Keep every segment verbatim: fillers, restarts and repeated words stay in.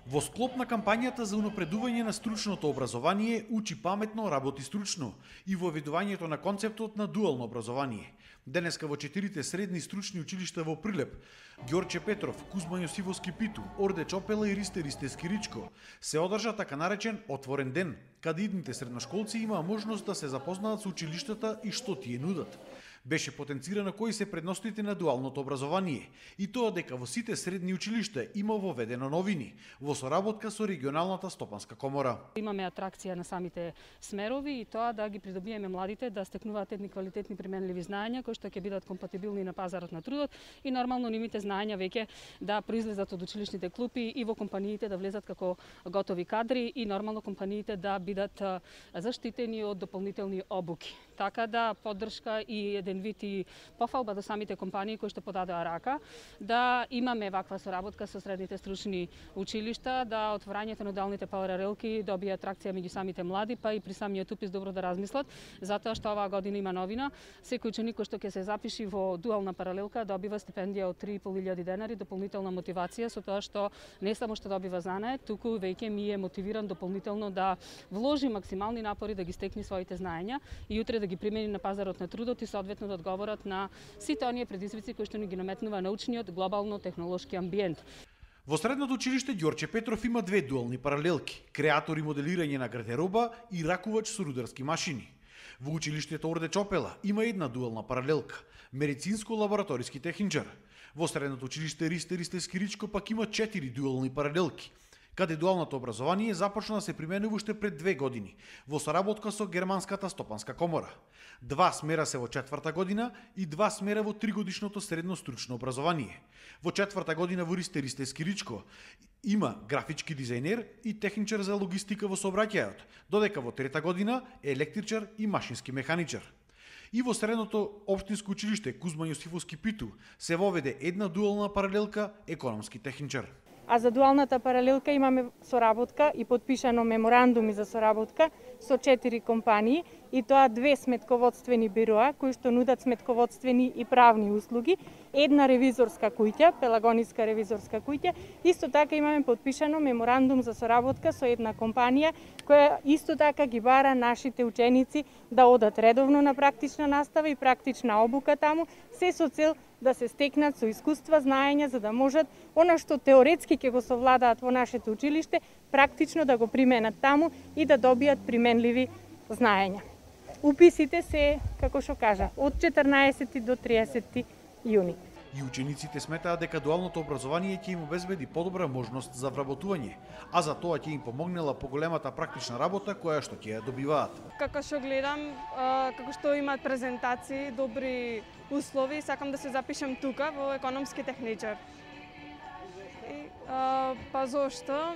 Во склоп на кампањата за унапредување на стручното образование Учи паметно, работи стручно и во воведувањето на концептот на дуално образование. Денеска во четирите средни стручни училишта во Прилеп, Ѓорче Петров, Кузма Јосифовски Питу, Орде Чопела и Ристе Ристевски Ричко, се одржа така наречен отворен ден, каде идните средношколци имаа можност да се запознаат со училиштата и што тие нудат. Беше потенцирано кои се предностите на дуалното образование и тоа дека во сите средни училишта има воведено новини во соработка со регионалната стопанска комора. Имаме атракција на самите смерови и тоа да ги придобиеме младите да стекнуваат едни квалитетни применливи знаења кои што ќе бидат компатибилни на пазарот на трудот и нормално нивните знаења веќе да произлезат од училишните клупи и во компаниите да влезат како готови кадри и нормално компаниите да бидат заштитени од дополнителни обуки. Така да поддршка и еден вид и пофалба до самите компании кои што подадоа рака да имаме ваква соработка со средните стручни училишта, да отворањето на дуалните паралелки добија атракција меѓу самите млади, па и при самиот упис добро да размислат, затоа што оваа година има новина. Секој ученик кој што ќе се запиши во дуална паралелка добива стипендија од три и пол илјади денари, дополнителна мотивација со тоа што не само што добива знание, туку веќе ми е мотивиран дополнително да вложи максимални напори да ги стекне своите знаења и утре да ги примени на пазарот на трудот и соодветно да одговорат на сите оние предизвици кои што ни ги наметнува научниот глобално-технолошки амбиент. Во средното училиште Ѓорче Петров има две дуални паралелки: креатор и моделирање на гардероба и ракувач со рударски машини. Во училиштето Орде Чопела има една дуална паралелка – медицинско-лабораториски техничар. Во средното училиште Ристе Ристевски Ричко пак има четири дуални паралелки, каде дуалното образование започна да се применува уште пред две години, во соработка со Германската стопанска комора. Два смера се во четврта година и два смера во тригодишното средно стручно образование. Во четврта година во Ристе Ристевски Ричко има графички дизајнер и техничар за логистика во сообраќајот, додека во трета година е електричар и машински механичар. И во средното општинско училиште Кузма Јосифовски Питу се воведе една дуална паралелка економски техничар. А за дуалната паралелка имаме соработка и подпишано меморандуми за соработка со четири компании, и тоа две сметководствени бироа кои што нудат сметководствени и правни услуги, една ревизорска куќа, Пелагониска ревизорска куќа. Исто така имаме подпишано меморандум за соработка со една компанија која исто така ги бара нашите ученици да одат редовно на практична настава и практична обука таму, се со цел да се стекнат со искуства, знаења, за да можат она што теоретски ќе го совладаат во нашето училиште, практично да го применат таму и да добијат применливи знаења. Уписите се, како што кажа, од четрнаесети до триесети јуни. И учениците сметаат дека дуалното образование ќе им обезбеди подобра можност за вработување, а за тоа ќе им помогнела поголемата практична работа која што ќе ја добиваат. Како што гледам, како што имаат презентации, добри услови, сакам да се запишам тука во економски техничар. И, а, па зошто?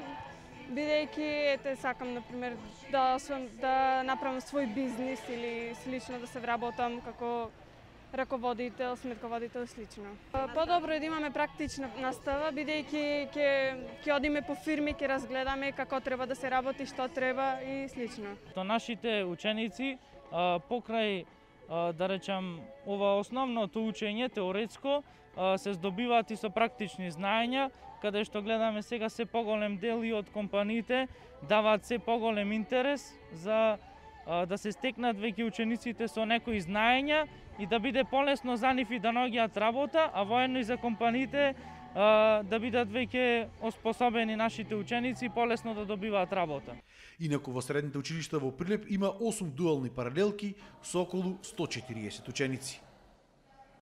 Бидејќи ете сакам на пример да да направам свој бизнис или слично да се вработам како раководител, сметководител и слично. Подобро е да имаме практична настава, бидејќи ќе ќе одиме по фирми, ќе разгледаме како треба да се работи, што треба и слично. То нашите ученици покрај да речам ова основното учење теоретско се здобиваат и со практични знаења, каде што гледаме сега се поголем дел и од компаниите даваат се поголем интерес за да се стекнат веќе учениците со некои знаења и да биде полесно за нив и да наоѓаат работа, а воедно и за компаниите да бидат веќе оспособени нашите ученици и полесно да добиваат работа. Инаку во средните училишта во Прилеп има осум дуални паралелки со околу сто и четириесет ученици.